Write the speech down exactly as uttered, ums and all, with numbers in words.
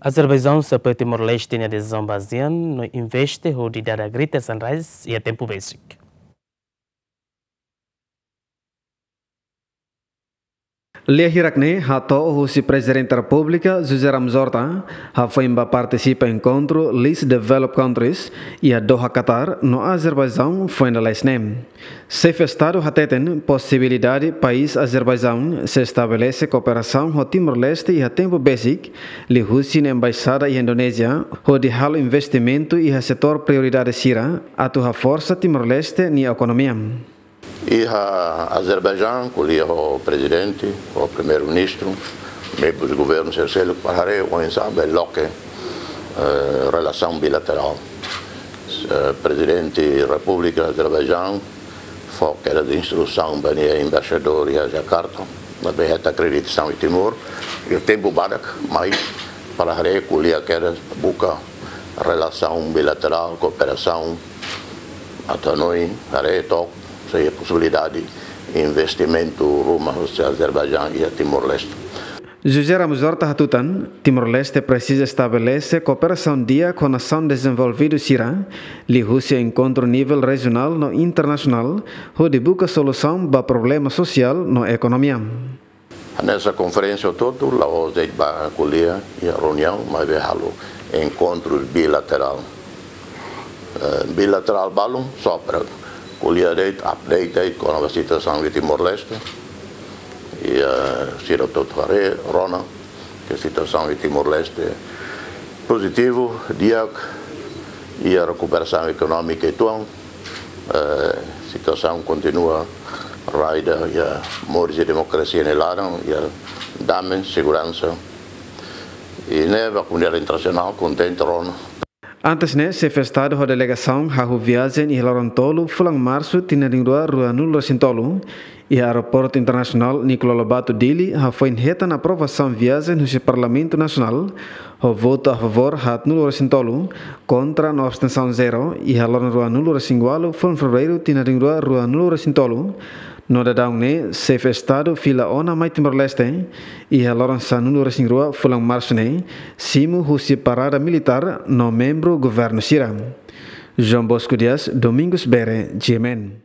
Azerbaijaun sei apoia Timor-Leste nia desizaun ba ASEAN no investe hodi dada Greater Sunrise iha tempu besik. Lia hirak ne'e hato'o husi Prezidente Repúblika José Ramos Horta, hafoin ba partisipa enkontru Least Developed Countries iha Doha, Qatar, no Azerbaijaun foin lalais ne'e. Xefe Estadu hateten posibilidade país Azerbaijaun sei estabelese kooperasaun ho Timor-Leste iha tempu besik, liuhusi nia embaixada iha Indonézia, hodi halo investimentu iha setór prioridade sira, atu haforsa Timor-Leste nia ekonomia. Iha Azerbaijaun, ko'alia ho Prezidente, ho Primeiru-Ministru, membru Governu sira seluk, para haree oinsá bele loke, eh, relasaun bilaterál. Eh, Prezidente Repúblika Azerbaijaun fó kedas instrusaun ba nia embaixadór iha Jakarta, ne'ebé hetan akreditasaun iha Timor, iha tempu badak mai, para haree ko'alia kedas buka relasaun bilaterál, kooperasaun, atu hanoin, haree took, sei posibilidade investimentu ruma husi Azerbaijaun iha Timor-Leste. José Ramos Horta hatutan, Timor-Leste presiza estabelese kooperasaun di'ak ho nasaun dezenvolvidu sira, liuhusi enkontru nivel rejionál no internasionál, hodi buka solusaun ba problema sosiál no ekonomia. Hanesan konferénsia hotu-hotu, la'ós de'it ba ko'alia iha reuniaun, maibé halo enkontru bilaterál. Eh, bilaterál balun, só para ko'alia de'it, update de'it, kona-ba situasaun iha Timor-Leste. I, eh, sira hotu-hotu haree, rona, ke situasaun iha Timor-Leste pozitivu, di'ak, iha rekuperasaun ekonómika uitoan, eh, situasaun kontinua rai ida iha moris demokrasia nia laran, iha dame, seguransa. I ne'e ba komunidade internasionál kontente rona. Antes ne'e, Xefe Estadu ho delegasaun hahú viajen iha loron tolu fulan Marsu tinan rihun rua ruanulu resin tolu, iha Aeroportu Internasionál Nicolau Lobato Dili, hafoin hetan aprovasaun viajen husi Parlamentu Nasionál, ho votu a favór haatnulu resin tolu, kontra no abstensaun zero, iha loron ruanulu resin ualu fulan Fevereiru tinan rihun rua ruanulu resin tolu, no daudaun ne'e Xefe Estadu fila ona mai Timor-Leste, iha loron sanulu resin rua fulan Marsu ne'e, simu husi parada militár no membru governu sira. João Bosco Dias, Domingos Bere, G M N.